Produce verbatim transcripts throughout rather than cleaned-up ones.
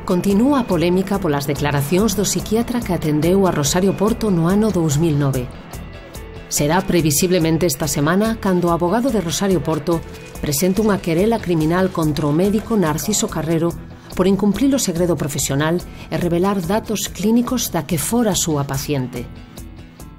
Continúa a polémica polas declaracións do psiquiatra que atendeu a Rosario Porto no ano dous mil nove. Será previsiblemente esta semana cando o abogado de Rosario Porto presente unha querela criminal contra o médico Narciso Carrero por incumprir o segredo profesional e revelar datos clínicos da que fora a súa paciente.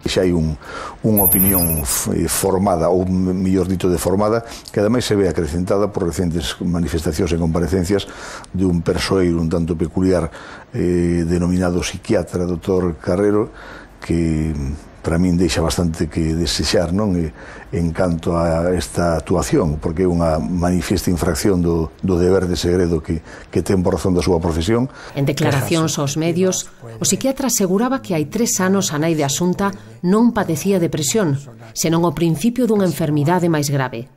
Xa hai un, unha opinión formada, ou mellor dito deformada, que ademais se ve acrecentada por recentes manifestacións e comparecencias de un persoeiro un tanto peculiar eh, denominado psiquiatra, doutor Carrero, que para min deixa bastante que desexar, non? E, en canto a esta actuación, porque é unha manifiesta infracción do, do deber de segredo que, que ten por razón da súa profesión. En declaracións aos medios, o psiquiatra aseguraba que hai tres anos a nai de Asunta non padecía depresión, senón o principio dunha enfermidade máis grave.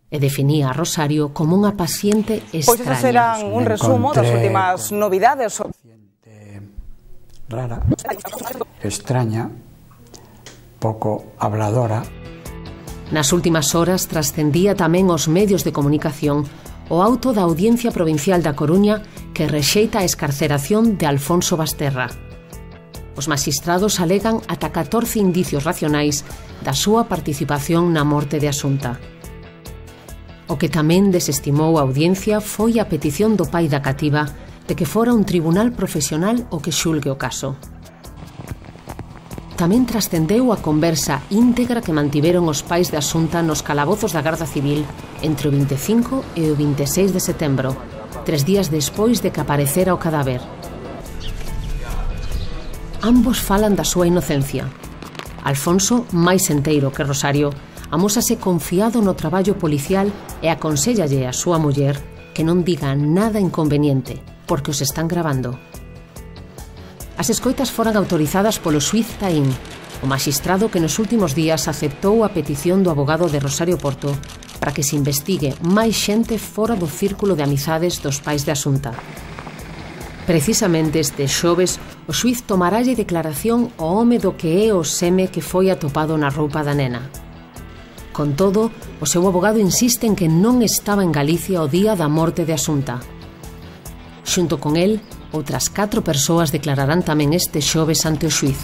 E definía a Rosario como unha paciente extraña. Pois esas eran un resumo das últimas novidades. Rara, extraña, pouco habladora. Nas últimas horas trascendía tamén os medios de comunicación o auto da Audiencia Provincial da Coruña que rexeita a excarceración de Alfonso Basterra. Os magistrados alegan ata catorce indicios racionais da súa participación na morte de Asunta. O que tamén desestimou a audiencia foi a petición do pai da cativa de que fora un tribunal profesional o que xulgue o caso. Tamén trascendeu a conversa íntegra que mantiveron os pais de Asunta nos calabozos da Garda Civil entre o vinte e cinco e o vinte e seis de setembro, tres días despois de que aparecera o cadáver. Ambos falan da súa inocencia. Alfonso, máis enteiro que Rosario, amósase confiado no traballo policial e aconséllalle a súa muller que non diga nada inconveniente, porque os están gravando. As escoitas foran autorizadas polo xuíz Taín, o maxistrado que nos últimos días aceptou a petición do abogado de Rosario Porto para que se investigue máis xente fora do círculo de amizades dos pais de Asunta. Precisamente este xoves, o xuíz tomaralle declaración ao home do que é o seme que foi atopado na roupa da nena. Con todo, o seu abogado insiste en que non estaba en Galicia o día da morte de Asunta. Xunto con el, outras catro persoas declararán tamén este xoves ante o xuíz.